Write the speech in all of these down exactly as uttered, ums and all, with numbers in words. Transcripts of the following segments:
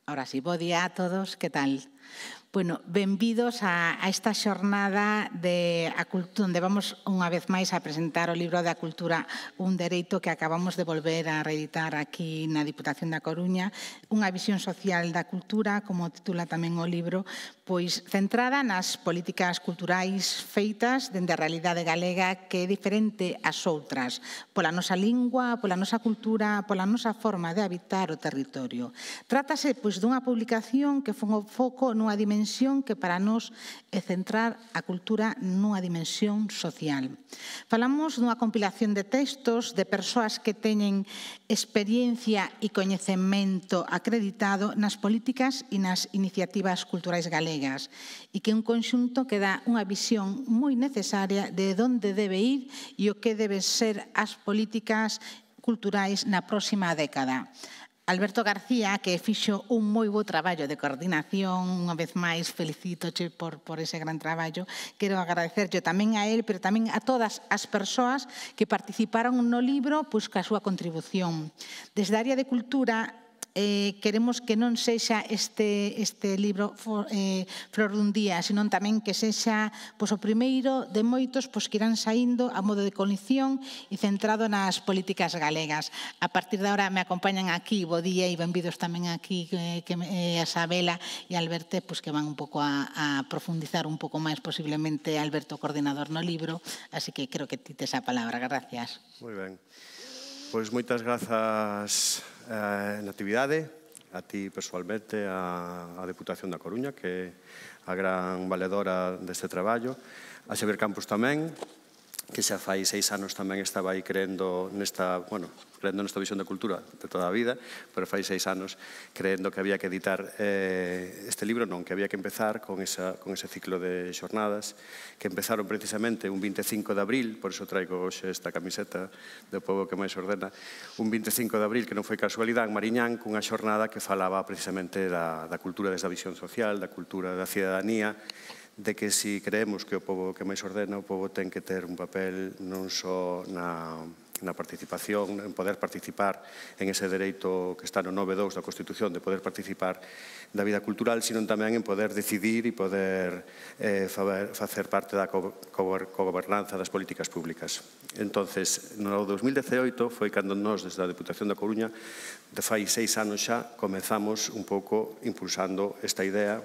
Ahora sí, bo día a todos, que tal? Bueno, benvidos a, a esta xornada de a cultura, onde vamos unha vez máis a presentar o libro da cultura, un dereito que acabamos de volver a reeditar aquí na Diputación da Coruña, unha visión social da cultura, como titula tamén o libro, pois centrada nas políticas culturais feitas dende a realidade galega que é diferente ás outras, pola nosa lingua, pola nosa cultura, pola nosa forma de habitar o territorio. Trátase pois dunha publicación que fon o foco nunha dimensión que para nós é centrar a cultura nunha dimensión social. Falamos dunha compilación de textos de persoas que teñen experiencia e coñecemento acreditado nas políticas e nas iniciativas culturais galegas e que é un conxunto que dá unha visión moi necesaria de onde debe ir e o que deben ser as políticas culturais na próxima década. Alberto García, que fixo un moi bo traballo de coordinación, unha vez máis felicítoche por, por ese gran traballo. Quero agradecerlle tamén a él, pero tamén a todas as persoas que participaron no libro pois, ca súa contribución. Desde a área de cultura, Eh, queremos que non sexa este, este libro for, eh, flor dun día, senón tamén que sexa pois, o primeiro de moitos pois, que irán saindo a modo de coalición e centrado nas políticas galegas. A partir de agora me acompañan aquí, bo día e benvidos tamén aquí eh, que, eh, a Sabela e Alberto, pois, que van un pouco a, a profundizar un pouco máis posiblemente Alberto coordinador no libro, así que creo que ti tes a palabra. Gracias. Moi ben. Pois moitas grazas eh, Natividade, a ti personalmente, a, a Deputación da Coruña, que é a gran valedora deste traballo, a Xavier Campos tamén, que xa fai seis anos tamén estaba aí creendo nesta, bueno, creendo nesta visión da cultura de toda a vida, pero fai seis anos creendo que había que editar eh, este libro, non, que había que empezar con, esa, con ese ciclo de xornadas, que empezaron precisamente un vinte e cinco de abril, por iso traigo hoxe esta camiseta do povo que máis ordena, un vinte e cinco de abril, que non foi casualidade, en Mariñán, cunha xornada que falaba precisamente da, da cultura desde a visión social, da cultura da cidadanía, de que si creemos que o pobo que máis ordena, o pobo ten que ter un papel non só na, na participación, en poder participar en ese dereito que está no nove punto dous da Constitución, de poder participar da vida cultural, sino tamén en poder decidir e poder eh, facer parte da cogobernanza das políticas públicas. Entonces, no dos mil diecioito foi cando nós, desde a Deputación da Coruña, de fai seis anos xa, comezamos un pouco impulsando esta idea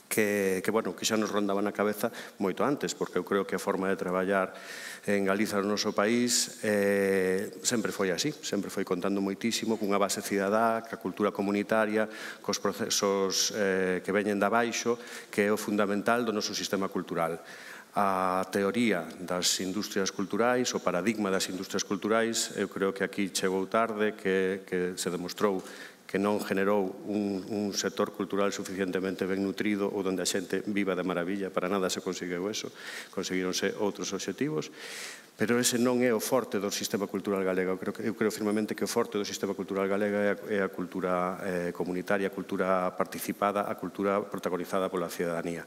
que, que, bueno, que xa nos rondaba na cabeza moito antes, porque eu creo que a forma de traballar en Galiza no noso país eh, sempre foi así, sempre foi contando moitísimo cunha base cidadá, ca cultura comunitaria, cos procesos eh, que veñen da baixo, que é o fundamental do noso sistema cultural. A teoría das industrias culturais, o paradigma das industrias culturais, eu creo que aquí chegou tarde, que, que se demostrou que non generou un, un sector cultural suficientemente ben nutrido ou onde a xente viva de maravilla, para nada se conseguiu eso, conseguironse outros obxectivos, pero ese non é o forte do sistema cultural galego. Eu creo, eu creo firmemente que o forte do sistema cultural galega é a, é a cultura eh, comunitaria, a cultura participada, a cultura protagonizada pola cidadanía.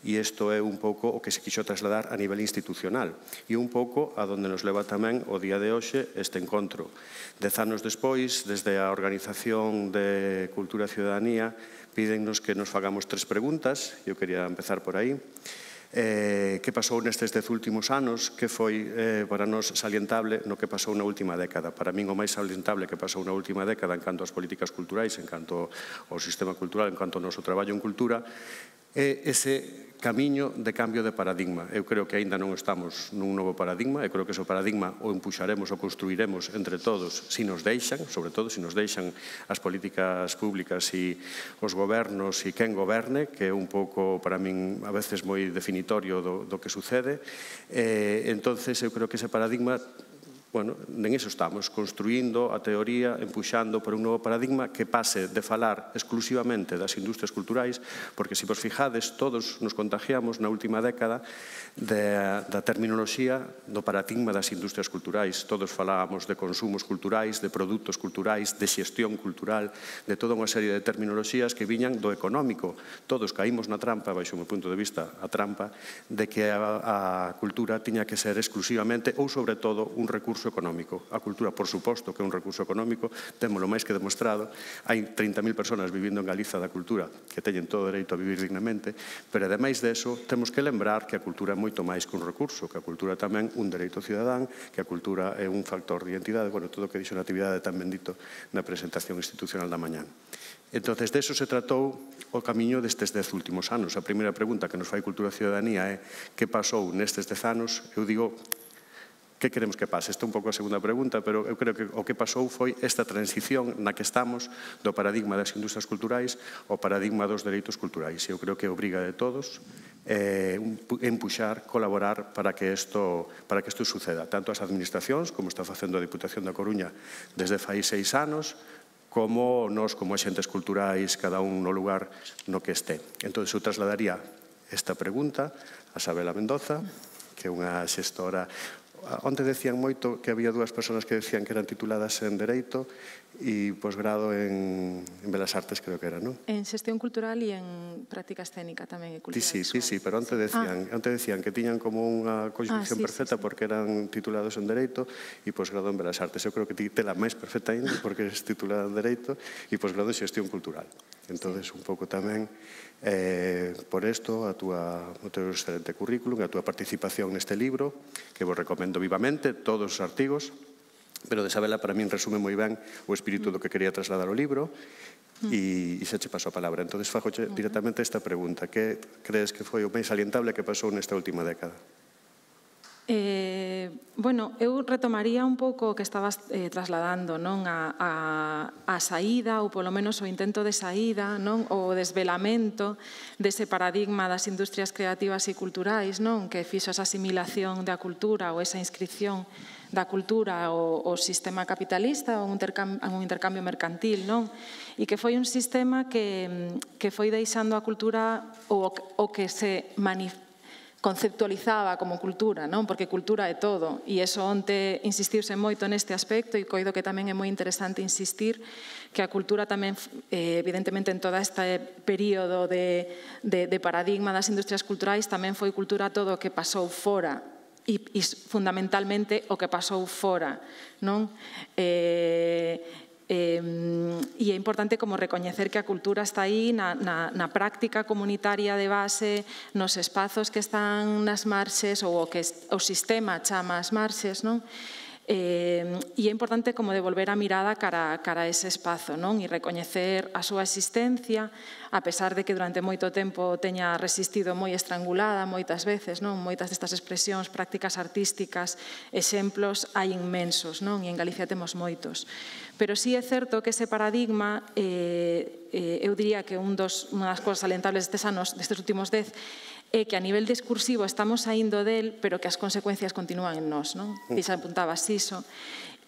E isto é un pouco o que se quixo trasladar a nivel institucional e un pouco a donde nos leva tamén o día de hoxe este encontro. Dez anos despois, desde a Organización de Cultura e Ciudadanía, pídennos que nos fagamos tres preguntas. Eu quería empezar por aí. Eh, que pasou nestes dez últimos anos? Que foi eh, para nós salientable no que pasou na última década? Para min o máis salientable que pasou na última década en canto ás políticas culturais, en canto ao sistema cultural, en canto ao noso traballo en cultura, é ese camiño de cambio de paradigma. Eu creo que aínda non estamos nun novo paradigma, eu creo que ese paradigma o empuxaremos ou construiremos entre todos se nos deixan, sobre todo se nos deixan as políticas públicas e os gobernos e quen goberne, que é un pouco, para min, a veces moi definitorio do, do que sucede. Eh, entonces, eu creo que ese paradigma, bueno, en iso estamos, construindo a teoría, empuxando por un novo paradigma que pase de falar exclusivamente das industrias culturais, porque se vos fijades, todos nos contagiamos na última década de, da terminoloxía do paradigma das industrias culturais. Todos falábamos de consumos culturais, de produtos culturais, de xestión cultural, de toda unha serie de terminoloxías que viñan do económico. Todos caímos na trampa, baixo o meu punto de vista, a trampa de que a, a cultura tiña que ser exclusivamente ou sobre todo un recurso económico. A cultura, por suposto, que é un recurso económico, témolo máis que demostrado. Hai trinta mil personas vivindo en Galiza da cultura que teñen todo o dereito a vivir dignamente, pero ademais deso, temos que lembrar que a cultura é moito máis que un recurso, que a cultura tamén un dereito cidadán, que a cultura é un factor de identidade, bueno, todo o que dixo Natividade tan bendito na presentación institucional da mañán. Entón, deso se tratou o camiño destes dez últimos anos. A primeira pregunta que nos fai Cultura e Ciudadanía é que pasou nestes dez anos. Eu digo, que queremos que pase? Esta é un pouco a segunda pregunta, pero eu creo que o que pasou foi esta transición na que estamos do paradigma das industrias culturais ao paradigma dos dereitos culturais. Eu creo que é obriga de todos eh, empuxar, colaborar para que isto para que isto suceda, tanto as administracións, como está facendo a Diputación da Coruña desde fai seis anos, como nós, como axentes culturais, cada un no lugar no que este. Entón, eu trasladaría esta pregunta a Sabela Mendoza, que é unha xestora. Onte decían moito que había dúas persoas que decían que eran tituladas en Dereito e posgrado en, en Belas Artes, creo que era, non? En Xestión Cultural e en Práctica Escénica tamén. E cultura sí, visual. sí, sí, pero onte decían, ah. onte decían que tiñan como unha conxunción ah, sí, perfecta sí, sí. porque eran titulados en Dereito e posgrado en Belas Artes. Eu creo que ti tela máis perfecta ainda porque eres titulada en Dereito e posgrado en Xestión Cultural. Entón, sí. un pouco tamén eh, por isto, a túa, o teu excelente currículum, a túa participación neste libro, que vos recomendo vivamente, todos os artigos, pero de Sabela para min resume moi ben o espírito do que quería trasladar o libro e, e se che paso a palabra. Entón, fajoche directamente esta pregunta. Que crees que foi o máis salientable que pasou nesta última década? Eh, bueno, eu retomaría un pouco o que estabas eh, trasladando, non? A, a, a saída, ou polo menos o intento de saída, non? O desvelamento dese paradigma das industrias creativas e culturais, non? Que fixo esa asimilación da cultura ou esa inscripción da cultura ao, ao sistema capitalista, a un intercambio, a un intercambio mercantil, non? E que foi un sistema que, que foi deixando a cultura o, o que se manifesta conceptualizaba como cultura, non? Porque cultura é todo, e iso onte insistiuse moito neste aspecto e coido que tamén é moi interesante insistir que a cultura tamén, eh, evidentemente en todo este período de, de, de paradigma das industrias culturais tamén foi cultura todo o que pasou fora e, e fundamentalmente o que pasou fora, non? Eh, Eh, e é importante como recoñecer que a cultura está aí na, na, na práctica comunitaria de base, nos espazos que están nas marxes ou o que o sistema chama as marxes, non? Eh, e é importante como devolver a mirada cara, cara a ese espazo, non? E recoñecer a súa existencia, a pesar de que durante moito tempo teña resistido moi estrangulada moitas veces, non? Moitas destas expresións, prácticas artísticas, exemplos hai inmensos, non? E en Galicia temos moitos. Pero sí é certo que ese paradigma, eh, eh, eu diría que un dos, unha das cousas salientables destes anos, destes últimos dez, é que a nivel discursivo estamos saindo del, pero que as consecuencias continúan en nós, non? E xa apuntabas iso.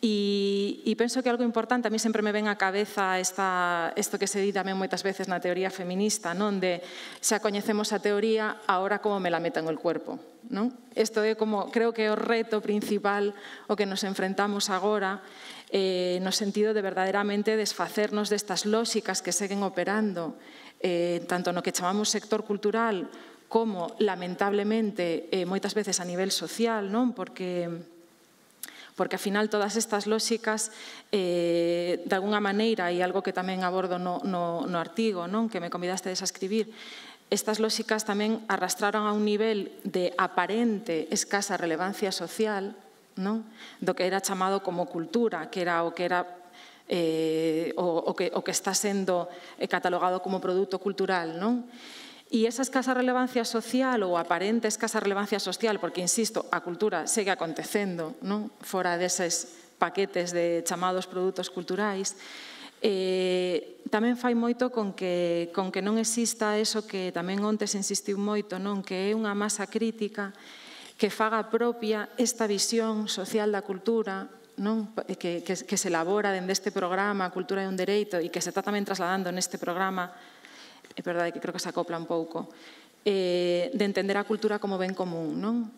E, e penso que algo importante, a mí sempre me ven á cabeza esta, isto que se di tamén moitas veces na teoría feminista, non? De xa coñecemos a teoría, agora como me la meto en el cuerpo, non? Isto é como, creo que é o reto principal o que nos enfrentamos agora, eh, no sentido de verdadeiramente desfacernos destas lóxicas que seguen operando, eh, tanto no que chamamos sector cultural, como, lamentablemente, eh, moitas veces a nivel social, non? Porque, porque, ao final, todas estas lóxicas, eh, de alguna maneira, e algo que tamén abordo no, no, no artigo, non? Que me convidastedes a escribir, estas lóxicas tamén arrastraron a un nivel de aparente escasa relevancia social, non? Do que era chamado como cultura, que era o que era eh, o, o, que, o que está sendo catalogado como produto cultural, non? E esa escasa relevancia social ou aparente escasa relevancia social, porque, insisto, a cultura segue acontecendo, non? Fora deses paquetes de chamados produtos culturais, eh, tamén fai moito con que, con que non exista eso que tamén onte se insistiu moito, non? Que é unha masa crítica que faga propia esta visión social da cultura, non? Que, que, que se elabora dende este programa Cultura é un dereito e que se está tamén trasladando neste programa. É verdade que creo que se acopla un pouco, eh, de entender a cultura como ben común, non?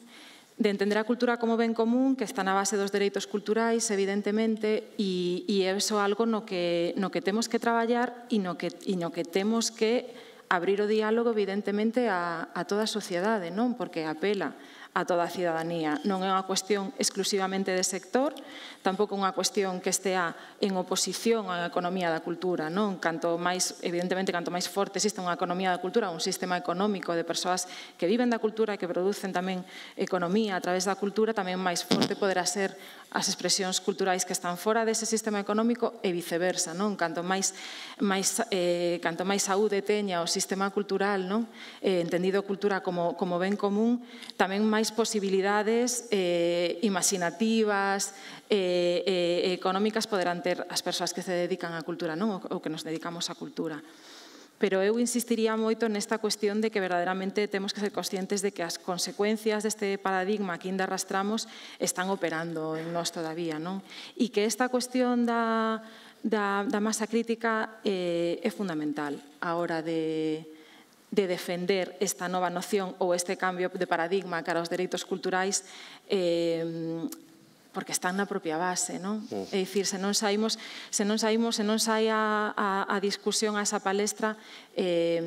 De entender a cultura como ben común, que está na base dos dereitos culturais, evidentemente, e, e é iso algo no que, no que temos que traballar e no que, e no que temos que abrir o diálogo, evidentemente, a, a toda a sociedade, non? Porque apela a toda a cidadanía. Non é unha cuestión exclusivamente de sector, tampouco unha cuestión que estea en oposición á economía da cultura, non? Canto máis, evidentemente, canto máis forte existe unha economía da cultura, un sistema económico de persoas que viven da cultura e que producen tamén economía a través da cultura, tamén máis forte poderá ser as expresións culturais que están fora dese sistema económico e viceversa, non? Canto máis, máis, eh, canto máis saúde teña o sistema cultural, non? Eh, entendido cultura como, como ben común, tamén máis posibilidades eh, imaginativas e eh, eh, económicas poderán ter as persoas que se dedican á cultura, non? Ou que nos dedicamos á cultura. Pero eu insistiría moito nesta cuestión de que verdadeiramente temos que ser conscientes de que as consecuencias deste paradigma que ainda arrastramos están operando en nós todavía, non? E que esta cuestión da, da, da masa crítica eh, é fundamental a hora de de defender esta nova noción ou este cambio de paradigma cara aos dereitos culturais, eh, porque están na propia base, non? Uh. É dicir, se non saímos, se non saímos, se non sai a, a, a discusión, a esa palestra, eh,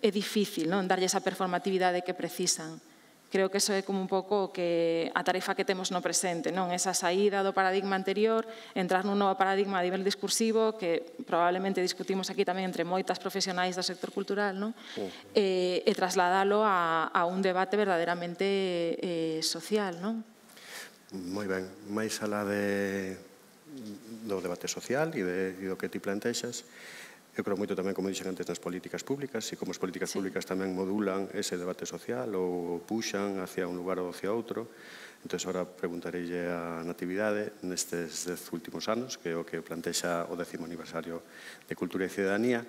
é difícil, non? Darlle esa performatividade que precisan. Creo que eso é como un pouco que a tarefa que temos no presente, non? Esa saída do paradigma anterior, entrar nun novo paradigma a nivel discursivo, que probablemente discutimos aquí tamén entre moitas profesionais do sector cultural, non? Uh-huh. E, e trasladalo a, a un debate verdadeiramente eh, social, non? Moi ben, máis alá de, do debate social e, de, e do que ti plantexas, eu creo moito tamén, como dixen antes, nas políticas públicas e como as políticas sí. públicas tamén modulan ese debate social ou puxan hacia un lugar ou hacia outro. Entón, agora preguntareille a Natividade nestes dez últimos anos, que é o que plantexa o décimo aniversario de Cultura e Cidadanía.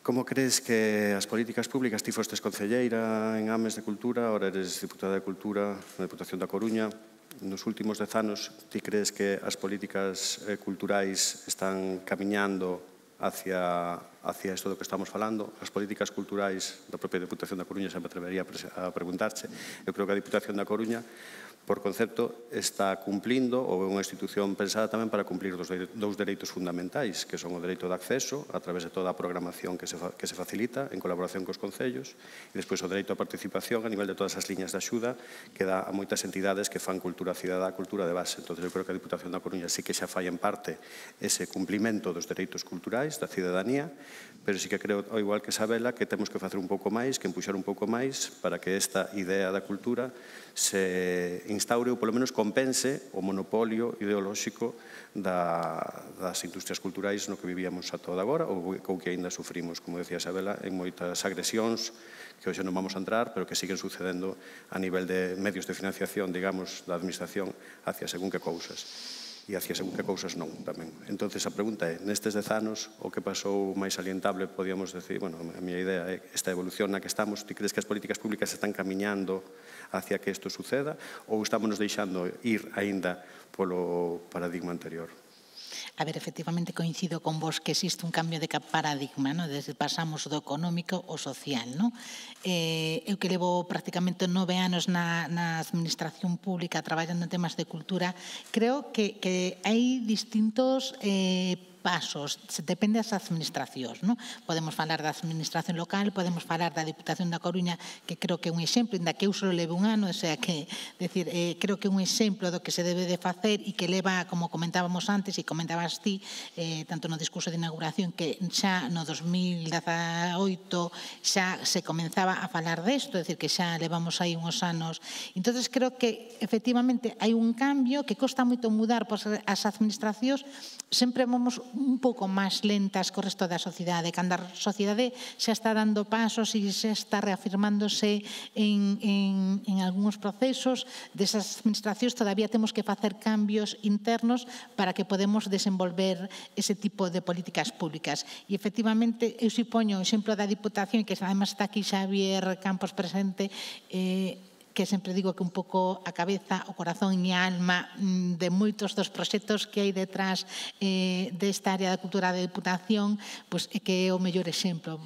Como crees que as políticas públicas, ti fostes concelleira en Ames de Cultura, agora eres diputada de Cultura na Deputación da Coruña, nos últimos dez anos, ti crees que as políticas culturais están camiñando hacia, hacia isto do que estamos falando? As políticas culturais da propia Deputación da Coruña, xa me atrevería a preguntarche. Eu creo que a Deputación da Coruña, por concepto, está cumplindo, ou é unha institución pensada tamén para cumplir dos, dous dereitos fundamentais, que son o dereito de acceso, a través de toda a programación que se, que se facilita, en colaboración cos concellos, e despois o dereito a participación a nivel de todas as liñas de axuda que dá a moitas entidades que fan cultura cidadá, cultura de base. Entón, eu creo que a Deputación da Coruña sí que xa fai en parte ese cumplimento dos dereitos culturais, da cidadanía, pero sí que creo, ao igual que Sabela, que temos que facer un pouco máis, que empuxar un pouco máis para que esta idea da cultura se instaure ou polo menos compense o monopolio ideolóxico da, das industrias culturais no que vivíamos a toda agora ou, ou que ainda sufrimos, como decía Sabela, en moitas agresións que hoxe non vamos a entrar, pero que siguen sucedendo a nivel de medios de financiación, digamos, da administración hacia según que cousas. E hacia según que cousas non, tamén. Entón, a pregunta é, nestes dez anos, o que pasou máis salientable, podíamos decir, bueno, a miña idea é esta evolución na que estamos, ti crees que as políticas públicas están camiñando hacia que isto suceda ou estamos nos deixando ir aínda polo paradigma anterior? A ver, efectivamente coincido con vos que existe un cambio de paradigma, ¿no? Desde pasamos do económico ao social, ¿no? Eh, eu que levo prácticamente nove anos na, na administración pública traballando en temas de cultura, creo que, que hai distintos eh, pasos, depende das administracións, non? Podemos falar da administración local, podemos falar da Deputación da Coruña, que creo que é un exemplo, inda que eu só leve un ano, o sea que, decir, eh, creo que é un exemplo do que se debe de facer e que leva, como comentábamos antes e comentabas ti, eh, tanto no discurso de inauguración, que xa no dos mil dezaoito xa se comenzaba a falar desto, é dicir, que xa levamos aí uns anos. Entonces creo que efectivamente hai un cambio que costa moito mudar pois, as administracións, sempre vamos un pouco máis lentas co resto da sociedade. Cando a sociedade xa está dando pasos e xa está reafirmándose en, en, en algúns procesos, desas administracións todavía temos que facer cambios internos para que podemos desenvolver ese tipo de políticas públicas. E, efectivamente, eu si poño o exemplo da Diputación, que además está aquí Xavier Campos presente, eh, que sempre digo que un pouco a cabeza, o corazón e a alma de moitos dos proxectos que hai detrás eh, desta área da cultura da Diputación, pois é que é o mellor exemplo.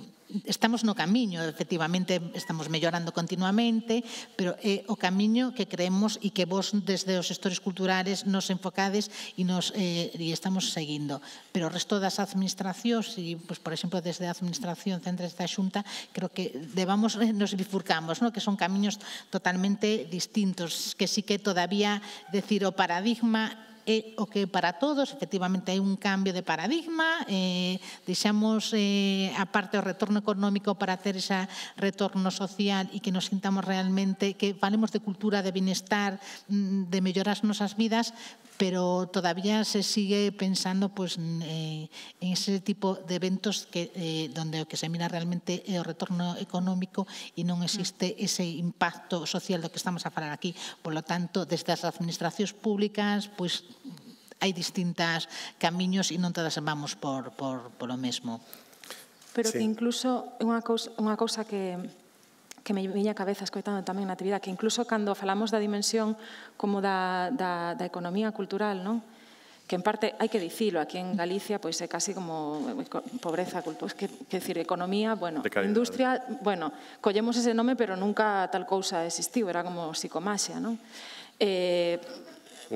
Estamos no camiño, efectivamente, estamos mellorando continuamente, pero é o camiño que creemos e que vos, desde os xestores culturales, nos enfocades e, nos, eh, e estamos seguindo. Pero o resto das administracións, e, pues, por exemplo, desde a Administración Central da Xunta, creo que debamos, nos bifurcamos, ¿no? Que son camiños totalmente distintos, que sí que todavía, decir, o paradigma é o que para todos, efectivamente, hai un cambio de paradigma, eh, deixamos eh, a parte o retorno económico para ter ese retorno social e que nos sintamos realmente, que falemos de cultura, de bienestar, de mellorar as nosas vidas, pero todavía se sigue pensando pues, eh, en ese tipo de eventos que, eh, donde o que se mira realmente é o retorno económico e non existe ese impacto social do que estamos a falar aquí. Por lo tanto, desde as administracións públicas, pues, hai distintos camiños e non todas vamos por, por, por o mesmo. Pero sí. Que incluso unha cousa, unha cousa que... que me viña a cabeza escoitando tamén na actividade, que incluso cando falamos da dimensión como da, da, da economía cultural, non? Que en parte hai que dicilo, aquí en Galicia pois é casi como pobreza, pois que, que decir, economía, bueno, industria, bueno, collemos ese nome pero nunca tal cousa existiu, era como psicomaxia, non? Eh,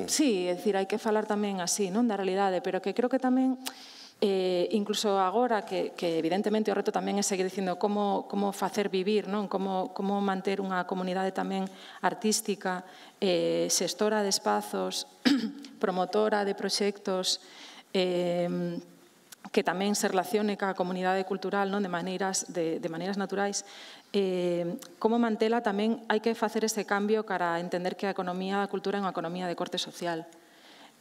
sí, é dicir, hai que falar tamén así, non, da realidade, pero que creo que tamén Eh, incluso agora que, que evidentemente o reto tamén é seguir dicindo como, como facer vivir, non? Como, como manter unha comunidade tamén artística, eh, xestora de espazos, promotora de proxectos, eh, que tamén se relacione ca comunidade cultural, non? De maneiras, de, de maneiras naturais. Eh, como mantela tamén hai que facer ese cambio cara a entender que a economía da cultura é unha economía de corte social.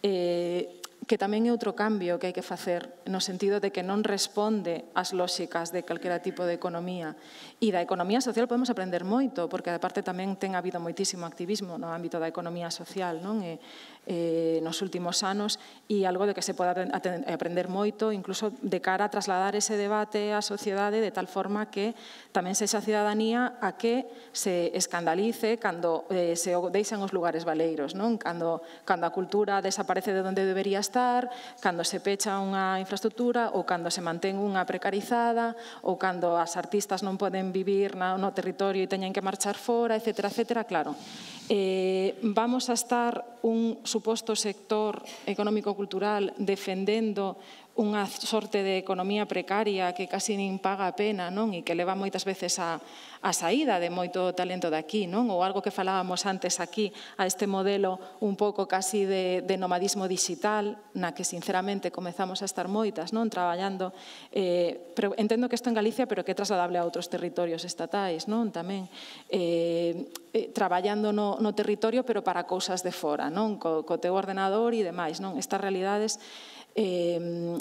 Eh, que tamén é outro cambio que hai que facer no sentido de que non responde ás lóxicas de calquera tipo de economía. E da economía social podemos aprender moito, porque aparte tamén ten habido moitísimo activismo no ámbito da economía social, non? E, eh, nos últimos anos, e algo de que se pode aprender moito, incluso de cara a trasladar ese debate á sociedade de tal forma que tamén sexa a cidadanía a que se escandalice cando eh, se deixan os lugares baleiros, non? Cando, cando a cultura desaparece de onde debería estar, cando se pecha unha infraestructura ou cando se mantén unha precarizada ou cando as artistas non poden vivir no territorio e teñen que marchar fora, etcétera, etcétera. Claro, eh, vamos a estar un suposto sector económico-cultural defendendo unha sorte de economía precaria que casi nin paga a pena, non? E que leva moitas veces a, a saída de moito talento de aquí, non? Ou algo que falábamos antes aquí, a este modelo un pouco casi de, de nomadismo digital, na que sinceramente comezamos a estar moitas, non? Traballando, eh, pero entendo que isto en Galicia, pero que é trasladable a outros territorios estatais, non? Tamén eh, eh, traballando no, no territorio, pero para cousas de fora, non? Co, co teu ordenador e demais, non? Estas realidades Eh,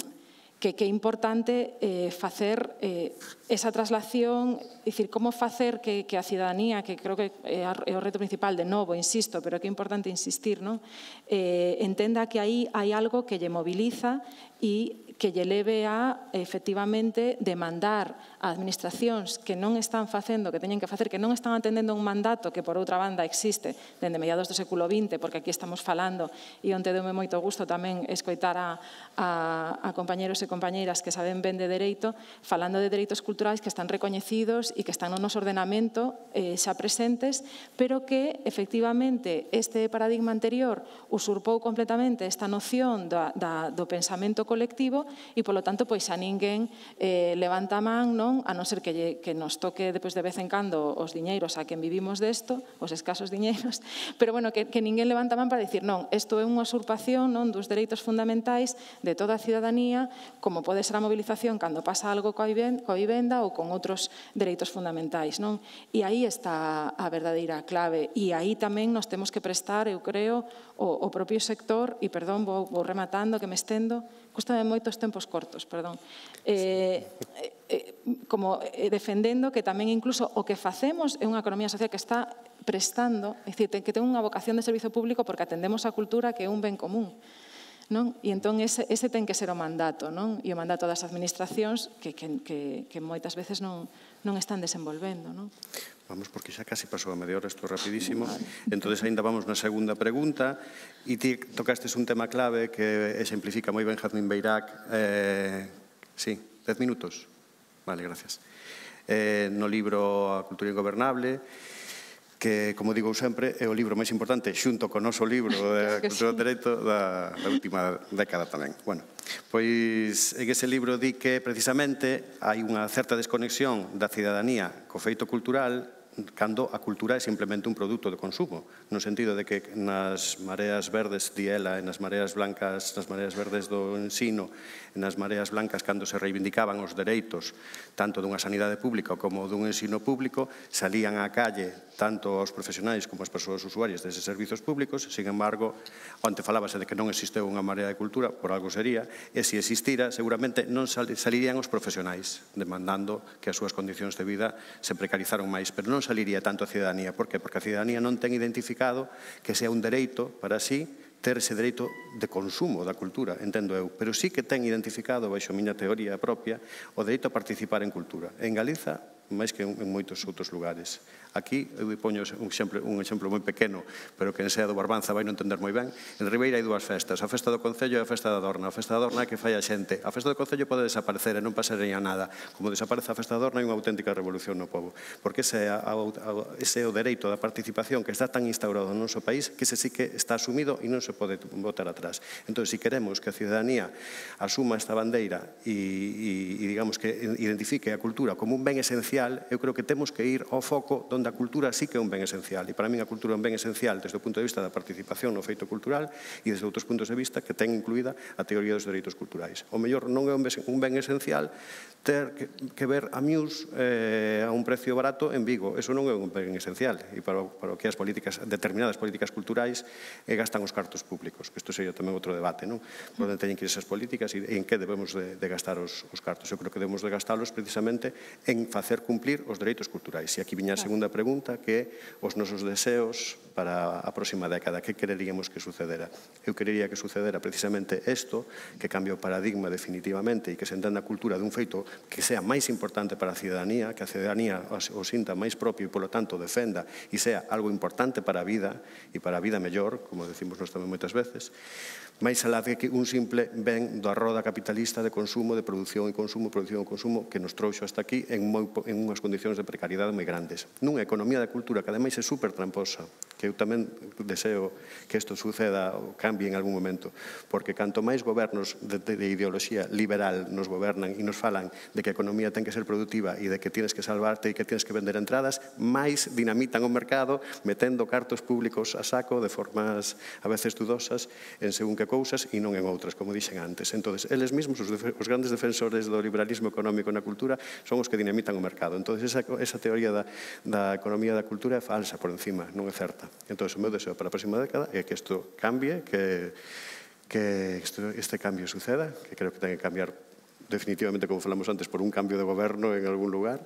que, que é importante eh, facer eh, esa traslación, é dicir, como facer que, que a cidadanía, que creo que é o reto principal, de novo, insisto, pero que é importante insistir, non? Eh, entenda que aí hai algo que lle moviliza e que lle leve a, efectivamente, demandar a administracións que non están facendo, que teñen que facer, que non están atendendo un mandato que, por outra banda, existe dende mediados do século vinte, porque aquí estamos falando, e onte deume moito gusto tamén escoitar a, a, a compañeros e compañeiras que saben ben de dereito, falando de dereitos culturais que están recoñecidos e que están no noso ordenamento eh, xa presentes, pero que, efectivamente, este paradigma anterior usurpou completamente esta noción da, da, do pensamento colectivo e, polo tanto, pois a ninguén eh, levanta a man, non? A non ser que, lle, que nos toque depois de vez en cando os diñeiros a quen vivimos desto, os escasos diñeiros, pero, bueno, que, que ninguén levanta a man para dicir, non, isto é unha usurpación, non, dos dereitos fundamentais de toda a cidadanía, como pode ser a movilización cando pasa algo coa vivenda ou con outros dereitos fundamentais, non? E aí está a verdadeira clave, e aí tamén nos temos que prestar, eu creo, o, o propio sector, e perdón, vou, vou rematando, que me estendo, custame moitos tempos cortos, perdón, eh, eh, como eh, defendendo que tamén incluso o que facemos é unha economía social que está prestando, é dicir, que ten unha vocación de servizo público porque atendemos a cultura que é un ben común. Non? E entón ese, ese ten que ser o mandato, non? E o mandato das administracións que, que, que, que moitas veces non, non están desenvolvendo, non? Vamos, porque xa casi pasou a media hora, isto rapidísimo. Entón, ainda vamos na segunda pregunta. E ti tocastes un tema clave que exemplifica moi ben Jazmín Beirac. Eh, sí, dez minutos. Vale, gracias. Eh, no libro A cultura ingobernable, que, como digo sempre, é o libro máis importante xunto co noso libro de Cultura do Dereito da, da última década tamén. Bueno, pois en ese libro di que precisamente hai unha certa desconexión da cidadanía co feito cultural cando a cultura é simplemente un produto de consumo, no sentido de que nas mareas verdes, di ela, e nas mareas blancas, nas mareas verdes do ensino, e nas mareas blancas, cando se reivindicaban os dereitos tanto dunha sanidade pública como dun ensino público, salían á calle tanto os profesionais como as persoas usuarias deses servizos públicos. Sin embargo, onte falábase de que non existeu unha marea de cultura, por algo sería, e se existira, seguramente non salirían os profesionais demandando que as súas condicións de vida se precarizaron máis, pero non saliría tanto a cidadanía. Por que? Porque a cidadanía non ten identificado que sea un dereito para sí ter ese dereito de consumo da cultura, entendo eu, pero sí que ten identificado, baixo a miña teoría propia, o dereito a participar en cultura. En Galiza, máis que en moitos outros lugares. Aquí, eu poño un exemplo, un exemplo moi pequeno, pero que en Sea do Barbanza vai non entender moi ben. En Ribeira hai dúas festas, a festa do Concello e a festa da Dorna. A festa da Dorna é que fai a xente. A festa do Concello pode desaparecer e non pasaría nada. Como desaparece a festa da Dorna, hai unha auténtica revolución no povo. Porque ese é, a, a, ese é o dereito da participación que está tan instaurado no noso país que ese sí que está asumido e non se pode botar atrás. Entón, se queremos que a cidadanía asuma esta bandeira e, e, e digamos que identifique a cultura como un ben esencial, eu creo que temos que ir ao foco onde a cultura sí que é un ben esencial. E para mí a cultura é un ben esencial desde o punto de vista da participación no feito cultural e desde outros puntos de vista que ten incluída a teoría dos dereitos culturais. O mellor non é un ben esencial ter que, que ver a Muse eh, a un precio barato en Vigo. Eso non é un ben esencial. E para, para o que as políticas, determinadas políticas culturais eh, gastan os cartos públicos, que isto sería tamén outro debate, non? Por onde teñen que ir esas políticas e en que debemos de, de gastar os, os cartos. Eu creo que debemos de gastalos precisamente en facer cumplir os dereitos culturais. E aquí viña a segunda pregunta, que é os nosos deseos para a próxima década. Que quereríamos que sucedera? Eu querería que sucedera precisamente isto, que cambie o paradigma definitivamente e que se entenda a cultura dun feito que sea máis importante para a cidadanía, que a cidadanía o sinta máis propio e, polo tanto, defenda e sea algo importante para a vida e para a vida mellor, como decimos nós tamén moitas veces, máis alá de que un simple ben da roda capitalista de consumo, de produción e consumo, produción e consumo, que nos trouxo hasta aquí en, moi, en unhas condicións de precariedade moi grandes. Nunha economía da cultura que ademais é super tramposa, que eu tamén deseo que isto suceda ou cambie en algún momento, porque canto máis gobernos de, de, de ideoloxía liberal nos gobernan e nos falan de que a economía ten que ser productiva e de que tienes que salvarte e que tienes que vender entradas, máis dinamitan o mercado metendo cartos públicos a saco de formas a veces dudosas en según que cousas e non en outras, como dixen antes. Entón, eles mesmos, os, os grandes defensores do liberalismo económico na cultura, son os que dinamitan o mercado. Entón, esa, esa teoría da, da economía da cultura é falsa por encima, non é certa. Entón, o meu deseo para a próxima década é que isto cambie, que, que isto, este cambio suceda, que creo que ten que cambiar definitivamente, como falamos antes, por un cambio de goberno en algún lugar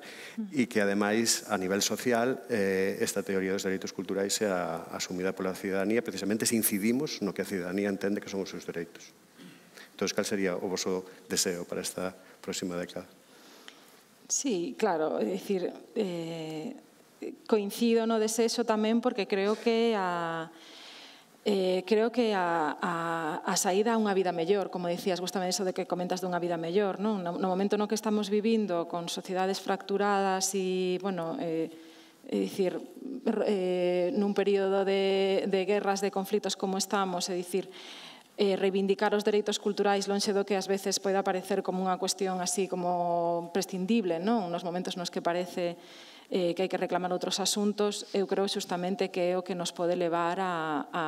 e que, ademais, a nivel social, eh, esta teoría dos dereitos culturais sea asumida pola cidadanía, precisamente se incidimos no que a cidadanía entende que son os seus dereitos. Entón, cal sería o voso deseo para esta próxima década? Sí, claro, é dicir, eh, coincido no desexo tamén porque creo que a... Eh, creo que a, a, a saída a unha vida mellor, como dicías, gustame eso de que comentas dunha vida mellor, non? No, no momento no que estamos vivindo con sociedades fracturadas e, bueno, eh, é dicir, eh, nun período de, de guerras, de conflitos como estamos, é dicir, reivindicar os dereitos culturais lonxe do que ás veces pode aparecer como unha cuestión así como prescindible, non? Nos momentos nos que parece eh, que hai que reclamar outros asuntos, eu creo xustamente que é o que nos pode levar a, a,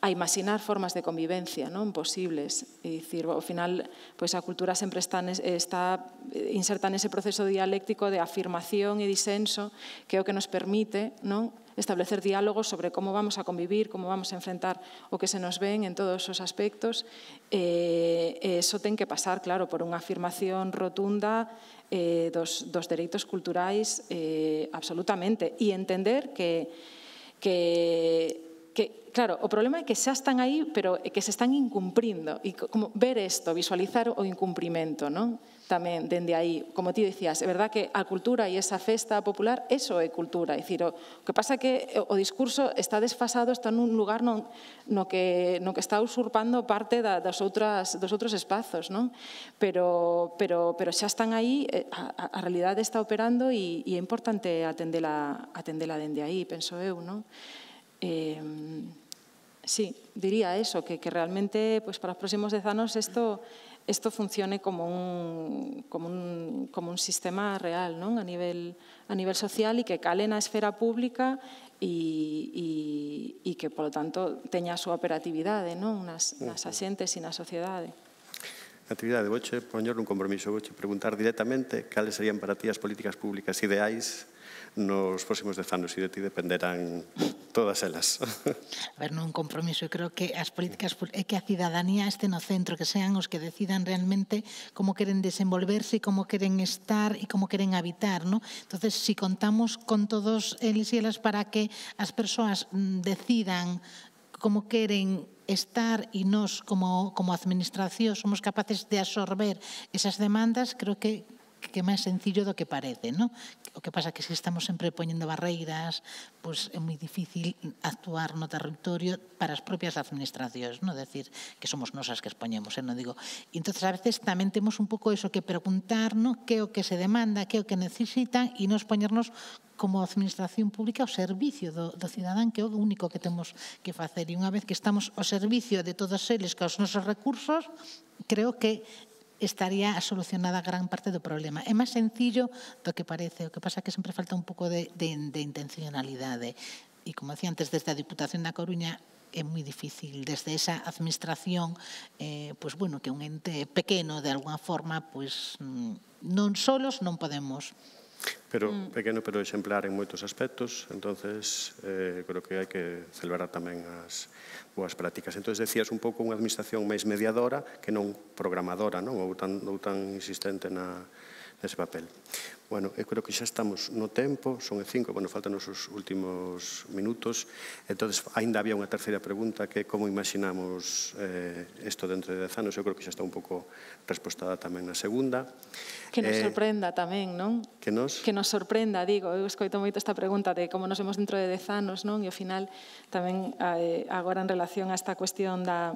a imaginar formas de convivencia non posibles. É dicir, ao final, pois a cultura sempre está, está inserta nese proceso dialéctico de afirmación e disenso que é o que nos permite non establecer diálogos sobre como vamos a convivir, como vamos a enfrentar o que se nos ven en todos os aspectos. E, e iso ten que pasar, claro, por unha afirmación rotunda eh, dos, dos dereitos culturais eh, absolutamente. E entender que, que, que, claro, o problema é que xa están aí, pero que se están incumprindo. E como ver isto, visualizar o incumprimento, non? Tamén, dende aí, como ti dicías, é verdad que a cultura e esa festa popular, eso é cultura. É dicir, o que pasa é que o discurso está desfasado, está nun lugar non, no, que, no que está usurpando parte da, das outras, dos outros espazos, non? Pero, pero, pero xa están aí, a, a realidade está operando e, e é importante atendela, atendela dende aí, penso eu, non? Eh, sí, diría eso, que, que realmente pues, para os próximos dez anos isto isto funcione como un, como un, como un sistema real, non? A nivel, a nivel social e que cale na esfera pública e, e, e que, polo tanto, teña a súa operatividade non? Nas, nas axentes e na sociedade. Actividade, vouche poñer un compromiso, vouche preguntar directamente cales serían para ti as políticas públicas ideais nos próximos dez anos e de ti dependerán todas elas. A ver, non un compromiso, eu creo que as políticas é que a cidadanía este no centro, que sean os que decidan realmente como queren desenvolverse, como queren estar e como queren habitar, non? Entonces, si contamos con todos eles e elas para que as persoas decidan como queren estar e nos como, como administración somos capaces de absorber esas demandas, creo que que é máis sencillo do que parece, non? O que pasa é que se estamos sempre poñendo barreiras, pois é moi difícil actuar no territorio para as propias administracións, non? Decir, que somos nosas que expoñemos, non digo. E entón, a veces tamén temos un pouco eso que preguntar, non? Que é o que se demanda, que é o que necesitan e nos poñernos como administración pública ao servicio do, do cidadán, que é o único que temos que facer. E unha vez que estamos ao servicio de todos eles, que os nosos recursos, creo que estaría solucionada gran parte do problema. É máis sencillo do que parece, o que pasa é que sempre falta un pouco de, de, de intencionalidade. E como decía antes, desde a Diputación da Coruña é moi difícil, desde esa administración, eh, pues bueno, que un ente pequeno, de alguna forma, pues non solos non podemos. Pero pequeno, pero exemplar en moitos aspectos, entonces eh, creo que hai que celebrar tamén as boas prácticas. Entón, decías un pouco unha administración máis mediadora que non programadora, non? Ou tan, ou tan insistente na, nese papel. Bueno, eu creo que xa estamos no tempo, son e cinco, bueno, faltan os últimos minutos, entón, ainda había unha terceira pregunta que é como imaginamos eh, isto dentro de dez anos, eu creo que xa está un pouco respostada tamén na segunda. Que nos sorprenda tamén, non? Que nos? Que nos sorprenda, digo, eu escoito moito esta pregunta de como nos vemos dentro de dez anos, non? E ao final tamén agora en relación a esta cuestión da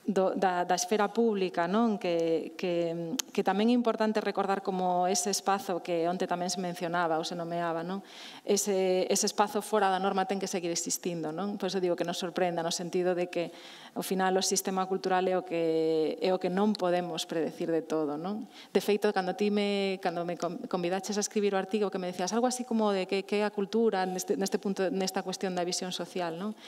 Do, da, da esfera pública, non? Que, que, que tamén é importante recordar como ese espazo que onte tamén se mencionaba ou se nomeaba, non? Ese, ese espazo fora da norma ten que seguir existindo, non? Por iso digo que nos sorprenda no sentido de que ao final o sistema cultural é o que, é o que non podemos predecir de todo, non? De feito, cando ti me, cando me convidaches a escribir o artigo que me decías algo así como de que, que é a cultura neste, neste punto, nesta cuestión da visión social, non?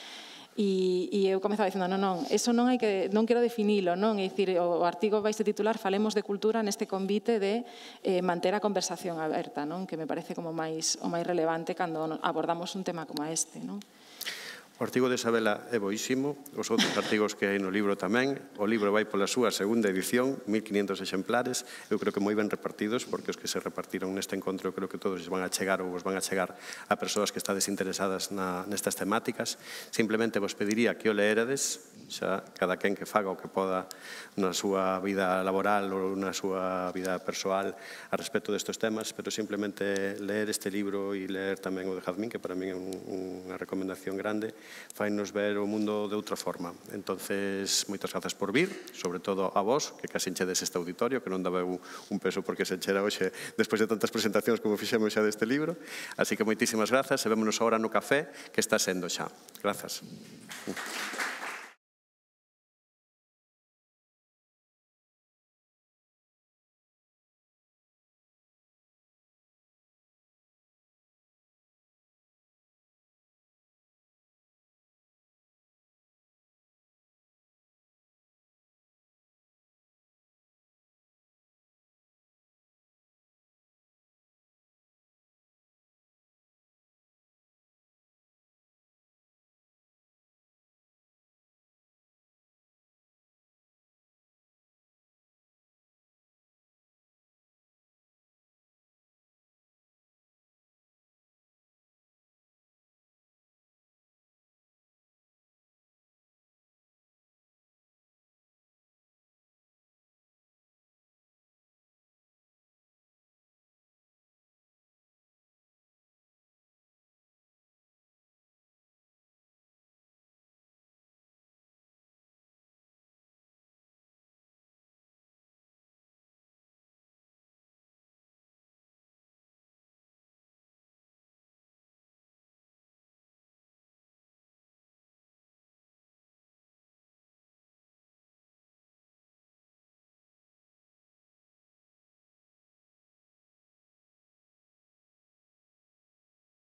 E, e eu comezaba dicindo, non, non, eso non hai que, non quero definilo, non? É dicir, o artigo vai se titular Falemos de cultura neste convite de eh, manter a conversación aberta, non? Que me parece como máis, o máis relevante cando abordamos un tema como este, non? O artigo de Isabela é boísimo, os outros artigos que hai no libro tamén. O libro vai pola súa segunda edición, mil quinientos exemplares. Eu creo que moi ben repartidos, porque os que se repartiron neste encontro eu creo que todos os van a chegar ou os van a chegar a persoas que estades interesadas na, nestas temáticas. Simplemente vos pediría que o leerades, xa cada quen que faga o que poda na súa vida laboral ou na súa vida persoal a respecto destes temas, pero simplemente leer este libro e leer tamén o de Jazmín, que para mí é un, unha recomendación grande, fainos ver o mundo de outra forma. Entonces, moitas grazas por vir, sobre todo a vos, que casi enchedes este auditorio, que non daba un, un peso porque se enchera hoxe despois de tantas presentacións como fixemos xa deste libro. Así que moitísimas grazas e vémonos agora no café, que está sendo xa. Grazas.